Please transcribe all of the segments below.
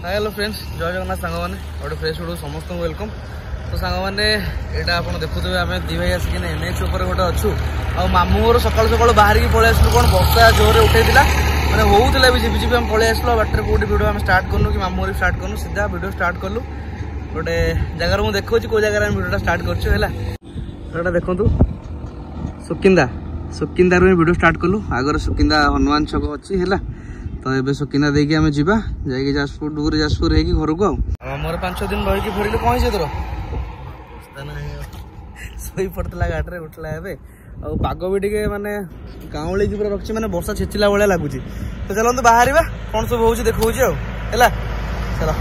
High hello friends, ଜୟ ଜଗନ୍ନାଥ ସାଙ୍ଗମାନେ, ଗୋଟେ fresh video ସମସ୍ତଙ୍କୁ welcome. ତ ସାଙ୍ଗମାନେ, ଏଇଟା ଆପଣ ଦେଖୁଥିବେ, ଆମେ ଦି ଭାଇ ଆସିକିନା ଏନ୍ ଏଚ୍ ଉପରେ ଗୋଟେ ଅଛୁ। ଆଉ ମାମୁଁ ଘର ସକାଳୁ ସକାଳୁ ବାହାରିକି ପଳେଇ ଆସିଲୁ। କ'ଣ ବର୍ଷା ଜୋରରେ ଉଠେଇଥିଲା, ମାନେ ହଉଥିଲା ବି ଝିପି ଝିପି, ଆମେ ପଳେଇ ଆସିଲୁ। ଆଉ ବାଟରେ କୋଉଠି ଭିଡ଼ିଓ ଆମେ ଷ୍ଟାର୍ଟ କରିନୁ କି ମାମୁଁ ଘରେ ଷ୍ଟାର୍ଟ କରିନୁ, ସିଧା ଭିଡ଼ିଓ ଷ୍ଟାର୍ଟ କଲୁ ଗୋଟେ ଜାଗାରେ। ମୁଁ ଦେଖାଉଛି କୋଉ ଜାଗାରେ ଆମେ ଭିଡ଼ିଓଟା ଷ୍ଟାର୍ଟ କରୁଛୁ। ହେଲା, ଏଇଟା ଦେଖନ୍ତୁ ସୁକିନ୍ଦା, ସୁକିନ୍ଦାରୁ ହିଁ ଭିଡ଼ିଓ ଷ୍ଟାର୍ଟ କଲୁ। ଆଗରେ ସୁକିନ୍ଦା ହନୁମାନ ଛକ ଅଛି। ହେଲା, ତ ଏବେ ସୁକିନ୍ଦା ଦେଇକି ଆମେ ଯିବା, ଯାଇକି ଯାଜପୁର, ଡୁବୁରି ଯାଜପୁର ହେଇକି ଘରକୁ। ଆଉ ଆମର 5 ଦିନ ରହିକି ଫେରିଲୁ। କ'ଣ ହେଇଛି ତୋର? ଶୋଇ ପଡ଼ିଥିଲା ଗାଡ଼ିରେ, ଉଠିଲା ଏବେ। ଆଉ ପାଗ ବି ଟିକେ ମାନେ ଗାଉଁଳିକି ପୁରା ରଖିଛି, ମାନେ ବର୍ଷା ଛେଚିଲା ଭଳିଆ ଲାଗୁଛି। ତ ଚାଲନ୍ତୁ ବାହାରିବା, କ'ଣ ସବୁ ହଉଛି ଦେଖଉଛି। ଆଉ ହେଲା, ଚାଲ।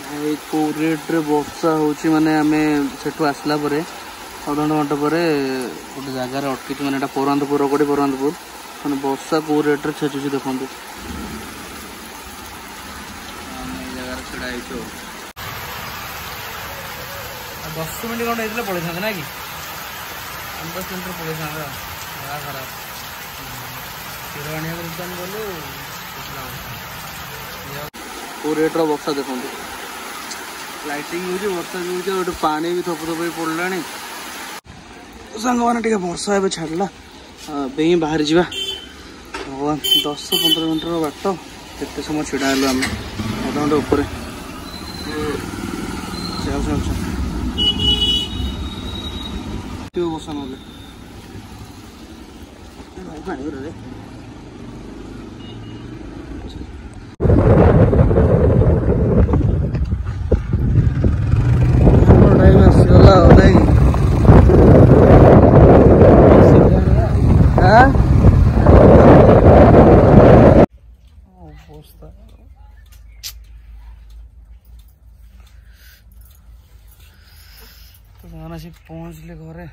ଭାଇ, କେଉଁ ରେଟ୍ରେ ବର୍ଷା ହେଉଛି! ମାନେ ଆମେ ସେଠୁ ଆସିଲା ପରେ ଅଧଘଣ୍ଟା ଘଣ୍ଟା ପରେ ଗୋଟେ ଜାଗାରେ ଅଟକିଛୁ, ମାନେ ଏଇଟା ପରନ୍ଦପୁର, ରଗଡ଼ି ପରନ୍ଦପୁର। ମାନେ ବର୍ଷା କେଉଁ ରେଟ୍ରେ ଛେଚୁଛି ଦେଖନ୍ତୁ। ଆମେ ଏଇ ଜାଗାରେ ଛିଡ଼ା ହେଇଛୁ। ଆଉ 10 ମିନିଟ୍ ଖଣ୍ଡେ ହେଇଥିଲେ ପଳେଇଥାନ୍ତେ ନା କି? 10 ମିନିଟ୍ରେ ପଳେଇଥାନ୍ତେ। ଆଉ ଜାଗା ଖରାପ। କ୍ଷୀର ଆଣିବାକୁ ଦୋକାନ ଗଲୁ, କେଉଁ ରେଟ୍ର ବର୍ଷା ଦେଖନ୍ତୁ। ଲାଇଟିଂ ହେଉଛି, ବର୍ଷା ବି ହେଉଛି, ଆଉ ଏଠି ପାଣି ବି ଥପ ଥପ ହେଇ ପଡ଼ିଲାଣି। ସାଙ୍ଗମାନେ, ଟିକେ ବର୍ଷା ଏବେ ଛାଡ଼ିଲା, ଏବେ ହିଁ ବାହାରି ଯିବା। ଭଗବାନ, 10 15 ମିନିଟ୍ର ବାଟ, କେତେ ସମୟ ଛିଡ଼ା ହେଲୁ ଆମେ, ଅଧଘଣ୍ଟା ଉପରେ। ଚାଲ ଚାଲ ଚାଲ, ବର୍ଷା ନହେଲେ ଭାଇ ପାଣି ରେ। ଟାଇମ୍ ଆସିଗଲା ଆଉ ନାଇଁ? ଅବସ୍ଥା ତ ସେମାନେ ଆସିକି ପହଞ୍ଚିଲେ ଘରେ।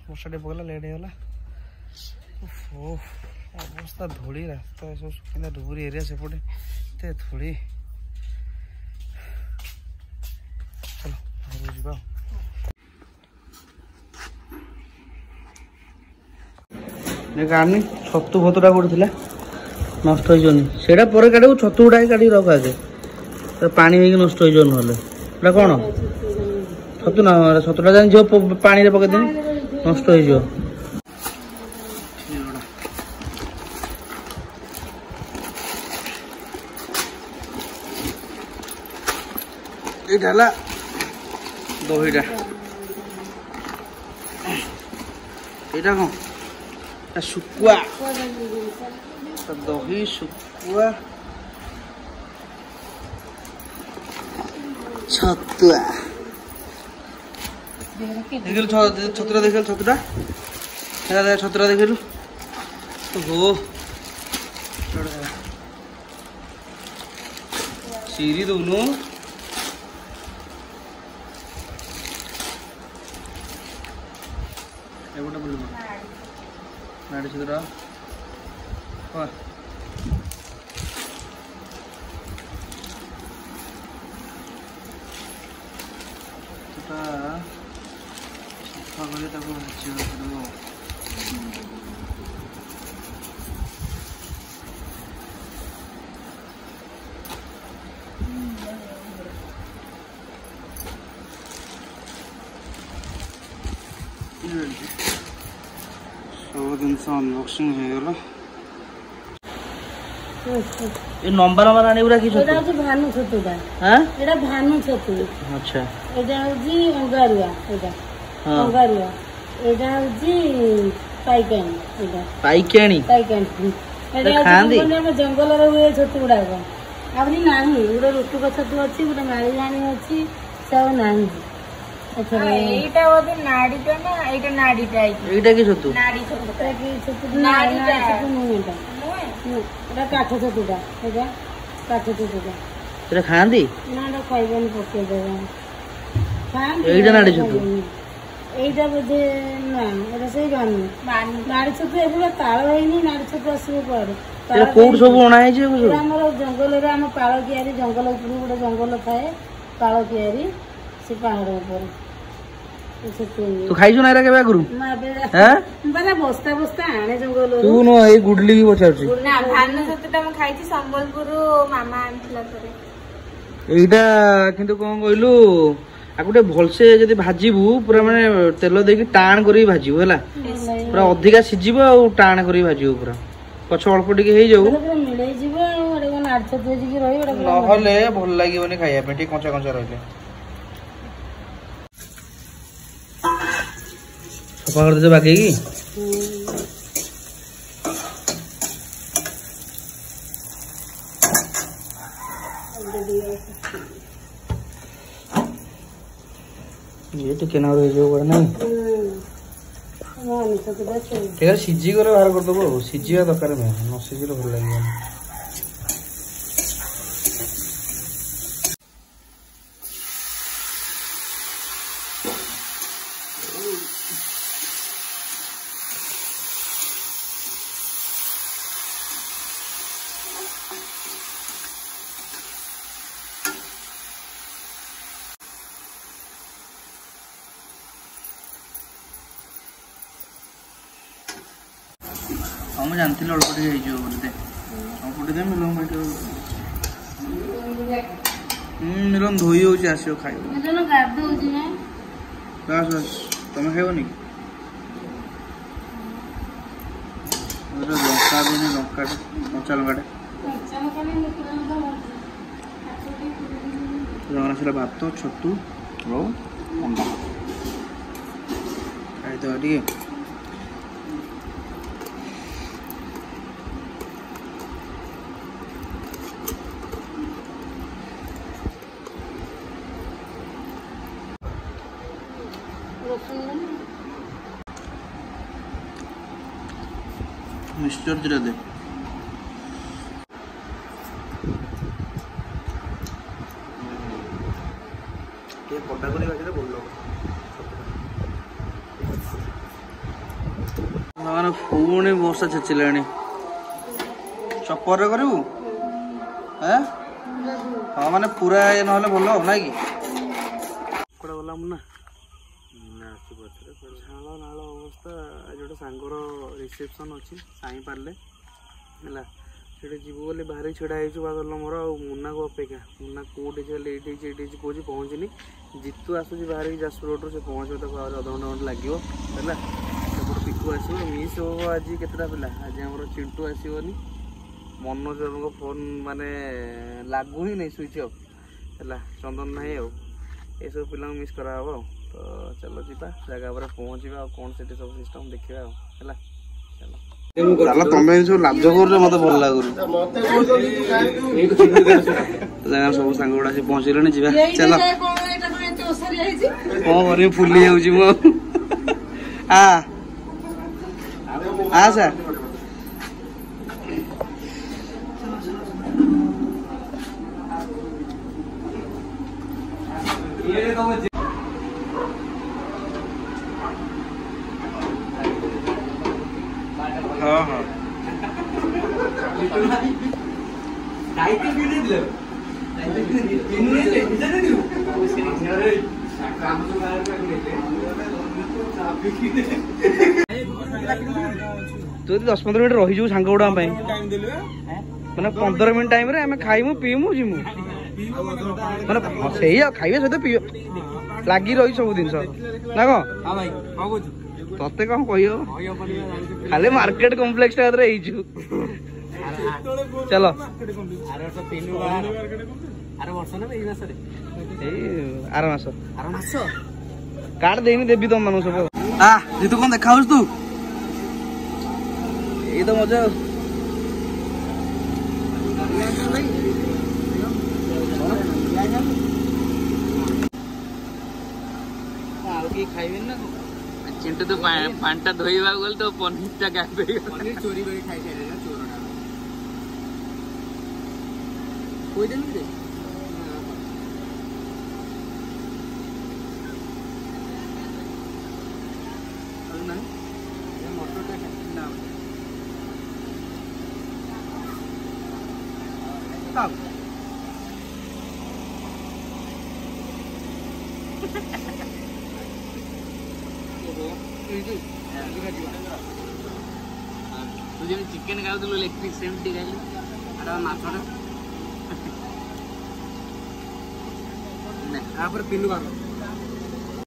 ବର୍ଷା ଟିକେ ପକେଇଲା, ଲେଟ୍ ହେଇଗଲା। ଓହୋ, ଅବସ୍ଥା, ଧୂଳି ରାସ୍ତା ଏସବୁ, ସୁକିନ୍ଦା ଡୁବୁରି ଏରିଆ ସେପଟେ ଏତେ ଧୂଳି। ଚାଲ ଘରକୁ ଯିବା। ଆଉ କାଢନି ଛତୁ ଫତୁଟା କୋଉଠି ଥିଲା, ନଷ୍ଟ ହେଇଯିବନି ସେଇଟା? ପରେ କାଟିବୁ। ଛତୁ ଗୁଡ଼ାକ କାଟିକି ରଖ ଆଗେ, ପାଣି ହେଇକି ନଷ୍ଟ ହେଇଯିବ ନହେଲେ। ଏଇଟା କ'ଣ ଛତୁ ନା? ଛତୁଟା ଜାଣି ଝିଅ ପାଣିରେ ପକେଇଦେନି, ନଷ୍ଟ ହେଇଯିବ। ଏଇଟା ହେଲା ଦହିଟା। ଏଇଟା କ'ଣ? ଶୁଖୁଆ, ଦହି, ଶୁଖୁଆ, ଛତୁଆ। ଦେଖିଲୁ ଛତୁଟା, ଦେଖିଲୁ ଛତୁଟା ହେଲା, ଛତୁଟା ଦେଖିଲୁ। ଓହୋ, ଚିରି ଦଉନୁ। ଏପଟେ ବୁଲିବ ନାଡ଼ି ଛତୁଟା। ଛତୁଟା ସଫା କରି ତାକୁ ଭାଜିବାକୁ ପଡ଼ିବ। ସବୁ ଜିନିଷ ଅନବକ୍ସିଂ ହେଇଗଲା। ଏ ଲମ୍ବା ଲମ୍ବା ରାଣୀ ଗୁରା କି ଛତୁ? ଏଇଟା ହଉଛି ଭାନୁ ଛତୁଟା। ହଁ, ଏଇଟା ଭାନୁ ଛତୁ। ଆଚ୍ଛା। ଏଇଟା ହଉଛି ଅଙ୍ଗାରୁଆ, ଏଇଟା ଅଙ୍ଗାରୁଆ। ଏଇଟା ହଉଛି ପାଇକାଣି ଏଇଟା। ପାଇକାଣି? ପାଇକାଣି। ଏଟା ଖାଆନ୍ତି? ଆମ ଜଙ୍ଗଲରେ ହୁଏ ଛତୁ ଗୁଡାକ, ଆହୁରି ନାହିଁ। ଗୋଟେ ରୁଟୁକ ଛତୁ ଅଛି, ଗୋଟେ ମାଳିଜାଣି ଅଛି, ସେ ଆଉ ନାହିଁ ଏଥର। ଏଇଟା ବୋଧେ ନାଡିଟା ନା? ଏଇଟା ନାଡିଟା। ଏଇଟା କି ଛତୁ? ନାଡି ଛତୁ। ଏଟା କି ଛତୁ? ନାଡି ଛତୁ ନୁହେଁ ଏଟା। ଏଟା କାଠ ଛତୁଟା, ଏଇଟା କାଠ ଛତୁଟା। ଏଟା ଖାଆନ୍ତି ନା? ଏଟା ଖାଇବେନି, ପକେଇଦେବେ। ଖାଆନ୍ତି। ଏଇଟା ନାଡି ଛତୁ? ଏଇଟା ବୋଧେ ନା, ଏଟା ସେଇ ଭାନୁ ନାଡି ଛତୁ। ଏବେ ତାଳ ହେଇନି, ନାଡି ଛତୁ ଆସିବ କୁଆଡୁ? ଏଟା କୋଉଠୁ ସବୁ ଅଣା ହେଇଛି ଏକୁ ସବୁ? ଆମର ଜଙ୍ଗଲରେ, ଆମ ପାଳ କିଆରି ଜଙ୍ଗଲ ଉପରୁ ଗୋଟେ ଜଙ୍ଗଲ ଥାଏ, ପାଳ କିଆରି, ସେ ପାହାଡ ଉପରେ ଏ ଛତୁ। ତୁ ଖାଇଛୁ ନା ଏରା କେବେ ଆଗରୁ? ମୁଁ ଏବେ ହେଁ? ମୁଁ ବସ୍ତା ବସ୍ତା ଆଣେ ଜଙ୍ଗଲରୁ। ତୁ ନୁହଁ, ଏଇ ଗୁଡଲି କି ପଚାରୁଛି। ନା, ଭାନୁ ଛତୁଟା ମୁଁ ଖାଇଛି, ସମ୍ବଲପୁରରୁ ମାମା ଆଣିଥିଲା ଥରେ। ଏଇଟା କିନ୍ତୁ କଣ କହିଲୁ, ଆକୁ ଟିକେ ଭଲସେ ଯଦି ଭାଜିବୁ, ପୁରା ମାନେ ତେଲ ଦେଇକି ଟାଣ କରିକି ଭାଜିବୁ ହେଲା, ପୁରା ଅଧିକା ସିଝିବ ଆଉ ଟାଣ କରିକି ଭାଜିବୁ, ପୁରା ପଛ ଅଳ୍ପ ଟିକେ ହେଇଯାଉ, ଏଟା ପୁରା ମିଳେଇ ଯିବ। ଆଉ ଏଟା କଣ ନାଡି ଛତୁ ହେଇକି ରହିବ? ଏଟା ପୁରା ନହେଲେ ଭଲ ଲାଗିବନି ଖାଇବା ପାଇଁ, ଟିକେ କଞ୍ଚା କଞ୍ଚା ରହିଲେ। ସଫା କରିଦେଇଛ ବାଗେଇକି? ଇଏ ଟିକେ ନାଁରୁ ହେଇଯିବ କୁଆଡେ ନାଇଁ? ଭାନୁ ଛତୁଟା ସେଇ ঠিক ଅଛି, ସିଝିଗଲେ ବାହାର କରିଦେବୁ। ଆଉ ସିଝିବା ଦରକାର ମେନ୍, ନ ସିଝିଲେ ଭଲ ଲାଗିବନି। ହଁ, ମୁଁ ଜାଣିଥିଲି ଅଳ୍ପ ଟିକେ ହେଇଯିବ ବୋଲି। ଦେ, ଅଳ୍ପ ଟିକେ ଦେ। ମିଲନ ଭାଇ, ହୁଁ, ମିଲନ ଧୋଇ ହଉଛି, ଆସିବ ଖାଇବ। ମିଲନ ଗାଧଉଛି ନା? ବାସ୍ ବାସ୍, ତମେ ଖାଇବନି କି? ଗୋଟେ ଲଙ୍କା ଦେନି, ଲଙ୍କାଟା, କଞ୍ଚା ଲଙ୍କାଟା। କଞ୍ଚା ଲଙ୍କା ନାହିଁ, ଶୁଖିଲା ଲଙ୍କା ଭାଜି। ଆସିଲା ଭାତ, ଛତୁ ଆଉ ଅଣ୍ଡା। ଖାଇଦେବା ଟିକେ। ରସୁଣ ଦେନି। ମିକ୍ସଚର ଦିଟା ଦେ। ଟିକେ କଟା କରି ଭାଜିଲେ ଭଲ ଲାଗିବ। ମାନେ ପୁଣି ବର୍ଷା ଛେଚିଲାଣି। ଚପରରେ କରିବୁ? ଏଁ ହଁ, ମାନେ ପୁରା ଇଏ ନହେଲେ ଭଲ ଆଉ ନାଇଁ କି? କୁଆଡ଼େ ଗଲା ମୁନା? ଝାଳ ନାଳ ଅବସ୍ଥା। ଆଜି ଗୋଟେ ସାଙ୍ଗର ରିସେପସନ୍ ଅଛି ସାଇଁ ପାରିଲେ ହେଲା, ସେଠି ଯିବୁ ବୋଲି ବାହାରି ଛିଡ଼ା ହେଇଛୁ ବାଦଲ ମୋର ଆଉ ମୁନାକୁ ଅପେକ୍ଷା। ମୁନା କୋଉଠି ସେ ଲେଟ୍ ହେଇଛି, ଏଇଠି ହେଇଛି କହୁଛି, ପହଞ୍ଚିନି। ଜିତୁ ଆସୁଛି ବାହାରିକି ଯାଜପୁର ରୋଡ଼ରୁ, ସେ ପହଞ୍ଚିବ, ତାକୁ ଆହୁରି ଅଧଘଣ୍ଟା ଘଣ୍ଟେ ଲାଗିବ ହେଲା। ସେପଟୁ ପିକୁ ଆସିବ। ମିସ୍ ହବ ଆଜି କେତେଟା ପିଲା। ଆଜି ଆମର ଚିଣ୍ଟୁ ଆସିବନି, ମନୋଜ ବାବୁଙ୍କ ଫୋନ୍ ମାନେ ଲାଗୁ ହିଁ ନାହିଁ, ସୁଇଚ୍ ଅଫ୍ ହେଲା, ଚନ୍ଦନ ନାହିଁ, ଆଉ ଏସବୁ ପିଲାଙ୍କୁ ମିସ୍ କରାହବ। ଆଉ ତ ଚାଲ ଯିବା, ଜାଗା ଉପରେ ପହଞ୍ଚିବା ଆଉ କ'ଣ ସେଠି ସବୁ ସିଷ୍ଟମ୍ ଦେଖିବା ଆଉ ହେଲା। ଚାଲ ଚାଲ। ତମେ ସବୁ ଲାଜ କରୁଛ, ମତେ ଭଲ ଲାଗୁନି। ଜାଗା ସବୁ ସାଙ୍ଗ ଗୁଡ଼ା ଆସି ପହଞ୍ଚିଲେଣି, ଯିବା ଚାଲ। କଣ ଏଇଟା? କଣ ଏତେ ଓସାରିଆ ହେଇଛି? କଣ କରିବି, ଫୁଲି ଯାଉଛି ମୁଁ ଆଉ। ଆ ଆସା। ହଁ ହଁ, ତୁ ଯଦି 10-15 ମିନିଟ୍ ରହିଯିବୁ ସାଙ୍ଗ ଗୁଡ଼ାକ ପାଇଁ, ମାନେ 15 ମିନିଟ୍ ଟାଇମ୍ରେ ଆମେ ଖାଇମୁ ପିଇମୁ ଯିମୁ, ମାନେ ସେଇ ଆଉ ଖାଇବା ସହିତ ପିଇବା ଲାଗି ରହି ସବୁ ଜିନିଷ ନା କଣ? ତତେ କଣ କହିହବ, ଖାଲି ମାର୍କେଟ କମ୍ପ୍ଲେକ୍ସ ଟା ହେଇଛୁ। ଚାଲ, ଏଇ ଆର ମାସ କାର୍ଡ ଦେଇନି, ଦେବି ତମ ମାନଙ୍କୁ ସବୁ। ଆ ଜିତୁ, କଣ ଦେଖା ହଉଛି ତୁ? ଏଇ ତ ମଜା ଆଉ। ଆଉ କେହି ଖାଇବେନି ନା କଣ? ଚିଣ୍ଟୁ, ତୁ ପାଣିଟା ଧୋଇବାକୁ ଗଲେ ତୋ ପନିରଟା ଗାୟବ ହେଇଗଲା। ପନିର ଚୋରି କରି ଖାଇସାରିଲେ ଚୋରଟା କହିଦେଲୁ କି? ଆଉ ନାହିଁ ମଟରଟା ନା ଥାଉ। ତୁ ଯେମିତି ଚିକେନ ଖାଉଥିଲୁ ଲେଗ୍ ପିସ୍, ସେମିତି ଖାଇଲୁ। ଆରେ ମାଛଟା। ତାପରେ ପିଲୁ ଭାଗ।